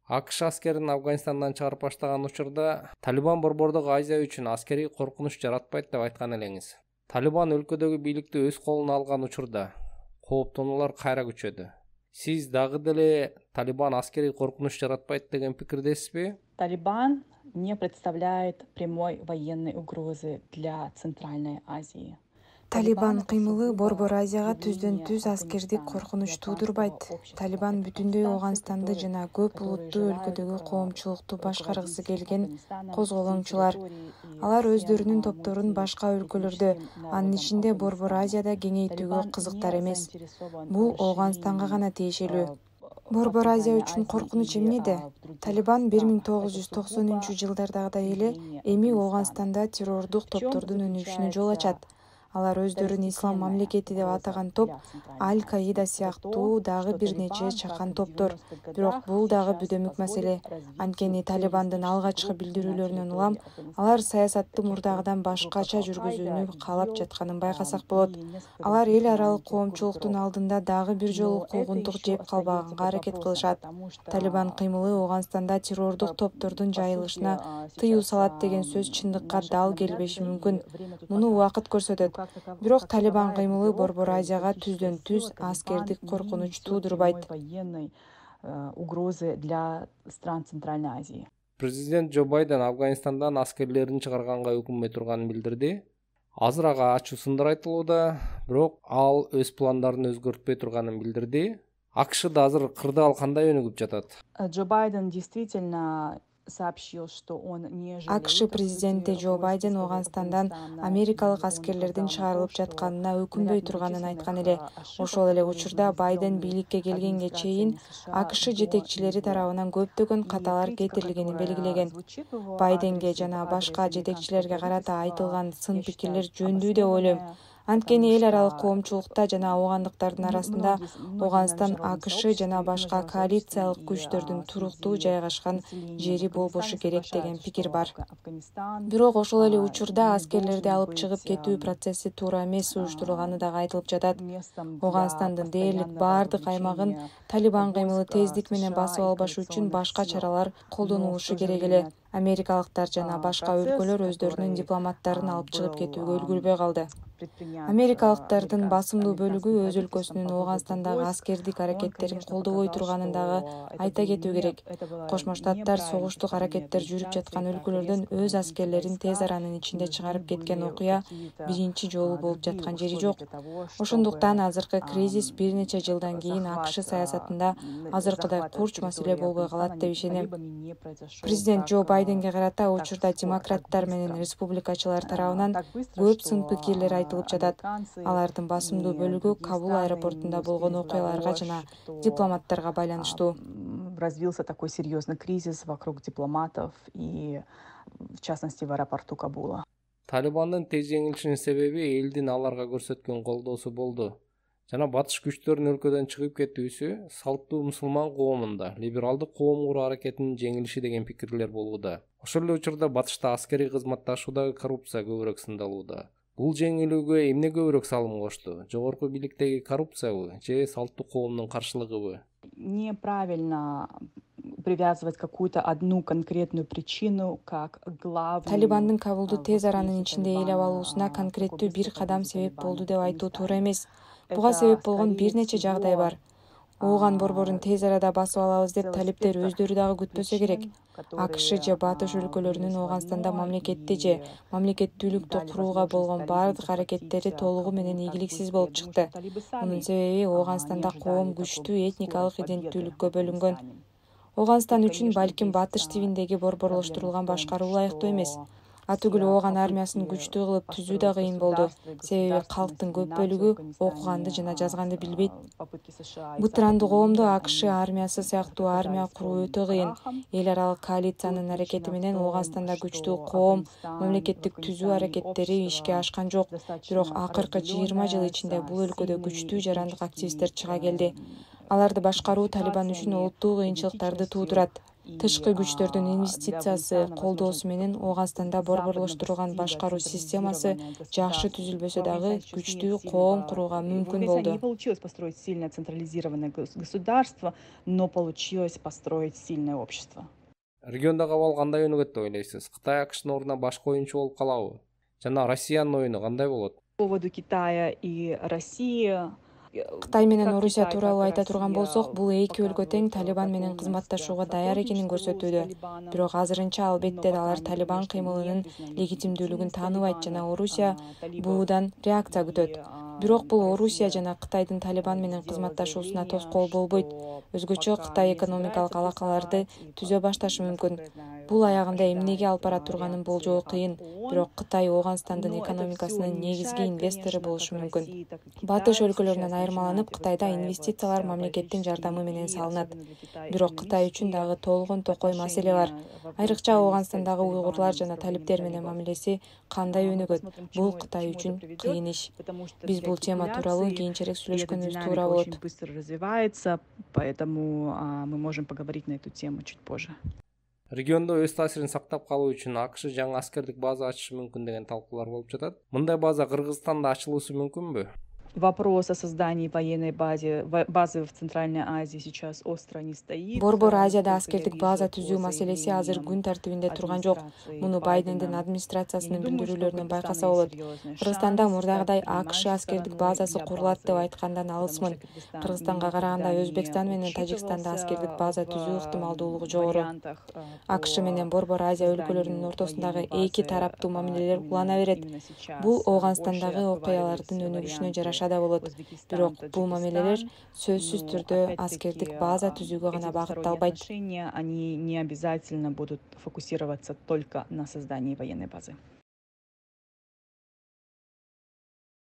АКШ аскерин Афганистандан чыгарып баштаган учурда Талибан Борбордук Азия үчүн аскерий коркунуч жаратпайт деп айткан элеңиз. Талибан өлкөдөгү бийликти өз колуна алган учурда кооптонуулар кайра күчөдү. Сиз дагы деле Талибан аскерий коркунуч жаратпайт деген пикирдесизби? Талибан не представляет прямой военной угрозы для Центральной Азии. Талибан кыймылы Борбор Азияга түздөн-түз аскердик коркунуч туудурбайт. Талибан бүтүндөй Ооганстанды жана көп улуттуу өлкөдөгү коомчулукту башкаргысы келген козголоңчулар. Алар өздөрүнүн топторун башка өлкөлөрдө, анын ичинде Борбор Азияда кеңейтүүгө кызыктар эмес. Бул Ооганстанга гана тиешелүү. Борбор Азия үчүн коркунуч эмнеде? Талибан 1990-жылдардагыдай эле эми Ооганстанда террордук топтордун өнүгүшүнө жол ачат. Алар өздөрүн ислам мамлекети деп атаган топ Аль-Каида сыяктуу дагы бир нече чакан топтор. Бирок бул дагы бүдөмүк маселе. Анткени Талибандын алгачкы билдирүүлөрүнөн улам алар саясатты мурдагыдан башкача жүргүзүүнү каалап жатканын байкасак болот. Алар эл аралык коомчулуктун алдында дагы бир жолу куугунтук жеп калбаганга аракет кылышат. Талибан кыймылы Ооганстанда террордук топтордун жайылышына тыюу салат деген сөз чындыкка дал келбеши мүмкүн. Муну убакыт көрсөтөт. Бирок Талибан кыймылы Борбор Азияга түздөн-түз аскердик коркунуч туудурбайт. Угрозы для стран Центральной Азии. Президент Джо Байден Афганистандан аскерлерин чыгарганга өкүнбөй турганын билдирди. Азыр ага ачуу сындар айтылууда, бирок ал өз пландарын өзгөртпөй турганын билдирди. АКШда азыр кырдаал кандай өнүгүп жатат? Джо Байден действительно сообщил, что он не жалеет. АКШ президенти Джо Байден Ооганстандан америкалык аскерлердин чыгарылып жатканына өкүнбөй турганын айткан эле. Ошол эле учурда Байден бийликке келгенге чейин АКШ жетекчилери тарабынан көптөгөн каталар кетирилгенин белгилеген. Байденге жана башка жетекчилерге карата айтылган сын пикирлер жөндүү деп ойлойм. Анткени эл аралык коомчулукта жана оогандыктардын арасында Ооганстан АКШ жана башка коалициялык күчтөрдүн туруктуу жайгашкан жери болбошу керек деген пикир бар. Бирок ошол эле учурда аскерлерди алып чыгып кетүү процесси туура эмес уюштурулганы дагы айтылып жатат. Ооганстандын дээрлик баардык аймагын Талибан кыймылы тездик менен басып албашы үчүн башка чаралар колдонулушу керек эле. Америкалыктар жана башка өлкөлөр өздөрүнүн дипломаттарын алып чыгып кетүүгө үлгүрбөй калды. Америкалыктардын басымдуу бөлүгү өз өлкөсүнүн Ооганстандагы аскердик аракеттерин колдобой турганын дагы айта кетүү керек. Кошмо Штаттар согуштук аракеттер жүрүп жаткан өлкөлөрдөн өз аскерлерин тез аранын ичинде чыгарып кеткен окуя биринчи жолу болуп жаткан жери жок. Ошондуктан азыркы кризис бир нече жылдан кийин АКШ саясатында азыркыдай курч маселе болбой калат деп ишенем. Президент Джо Байденге карата учурда демократтар менен республикачылар тарабынан көп сын пикирлер айтылып жатат. Алардын басымдуу бөлүгү Кабул аэропортунда болгон окуяларга жана дипломаттарга байланыштуу. Развился такой серьезный кризис вокруг дипломатов и, в частности, в аэропорту Кабула. Талибандын тез жеңилишинин себеби элдин аларга көрсөткөн колдоосу болду. Жана батыш күчтөрүнүн өлкөдөн чыгып кетүүсү салттуу мусулман коомунда либералдык коом куруу аракетинин жеңилиши деген пикирлер болууда. Ошол эле учурда батышта аскерий кызматташуудагы коррупция көбүрөөк сындалууда. Бул жеңилүүгө эмне көбүрөөк салым кошту? Жогорку бийликтеги коррупциябы же салттуу коомдун каршылыгыбы? Неправильно привязывать какую-то одну конкретную причину как главную. Талибандын Кабулду тез аранын ичинде ээлеп алуусуна конкреттүү бир кадам себеп болду деп айтуу туура эмес. Буга себеп болгон бир нече жагдай бар. Ооган борборун тез арада басып алабыз деп талиптер өздөрү дагы күтпөсө керек. АКШ же батыш өлкөлөрүнүн Ооганстанда мамлекетти же мамлекеттүүлүктү курууга болгон бардык аракеттери толугу менен ийгиликсиз болуп чыкты. Мунун себеби Ооганстанда коом күчтүү этникалык иденттүүлүккө бөлүнгөн. Ооганстан үчүн балким батыш тибиндеги борборлоштурулган башкаруу ылайыктуу эмес. Атүгүл Ооган армиясын күчтүү кылып түзүү да кыйын болду. Себеби калктын көп бөлүгү окуганды жана жазганды билбейт. Бытырандуу коомдо АКШ армиясы сыяктуу армия куруу өтө кыйын. Эл аралык коалициянын аракети менен Ооганстанда күчтүү коом мамлекеттик түзүү аракеттери ишке ашкан жок. Бирок акыркы 20 жыл ичинде бул өлкөдө күчтүү жарандык активисттер чыга келди. Аларды башкаруу Талибан үчүн олуттуу кыйынчылыктарды туудурат. Тышкы күчтөрдүн инвестициясы колдоосу менен Ооганстанда борборлоштурулган башкаруу системасы жакшы түзүлбөсө дагы күчтүү коом курууга мүмкүн болду. Не получилось построить сильное централизированное государство, но получилось построить сильное общество. Региондогу абал кандай өнүгөт деп ойлойсуз? Кытай АКШнын ордуна башка оюнчу болуп калабы? Жана Россиянын оюну кандай болот? По поводу Китая и России. Кытай менен Орусия тууралуу айта турган болсок, бул эки өлкө тең Талибан менен кызматташууга даяр экенин көрсөтүүдө. Бирок азырынча албетте алар Талибан кыймылынын легитимдүүлүгүн тааныбайт жана Орусия буудан реакция күтөт. Бирок бул Орусия жана Кытайдын Талибан менен кызматташуусуна тоскоол болбойт. Өзгөчө Кытай экономикалык алакаларды түзө башташы мүмкүн. Бул аягында эмнеге алып бара турганын болжоо кыйын, бирок Кытай Ооганстандын экономикасынын негизги инвестору болушу мүмкүн. Батыш өлкөлөрүнөн айырмаланып, Кытайда инвестициялар мамлекеттин жардамы менен салынат. Бирок Кытай үчүн дагы толгон токой маселе бар. Айрыкча Ооганстандагы уйгурлар жана талиптер менен мамилеси кандай өнүгөт? Бул Кытай үчүн кыйын иш. Биз бул тема тууралуу кийинчерээк сүйлөшкөнүбүз туура болот. Очень быстро развивается, поэтому мы можем поговорить на эту тему чуть позже. Региондо өз таасирин сактап калуу үчүн АКШ жаңы аскердик база ачышы мүмкүн деген талкуулар болуп жатат. Мындай база Кыргызстанда ачылуусу мүмкүнбү? Вопрос о создании военной базы в Центральной Азии сейчас остро не стоит. Борбор Азияда аскердик база түзүү маселеси азыр күн тартибинде турган жок. Муну Байдендин администрациясынын билдирүүлөрүнөн байкаса болот. Кыргызстанда мурдагыдай АКШ аскердик базасы курулат деп айткандан алысмын. Кыргызстанга караганда Өзбекстан менен Тажикстанда аскердик база түзүү ыктымалдуулугу жогору. АКШ менен Борбор Азия өлкөлөрүнүн ортосундагы эки тараптуу мамилелер улана берет. Бул Ооганстандагы окуялардын өнүгүшүнө жараша да болот. Бирок бул мамилелер сөзсүз түрдө аскердик база түзүүгө гана багытталбайт. Они не обязательно будут фокусироваться только на создании военной базы.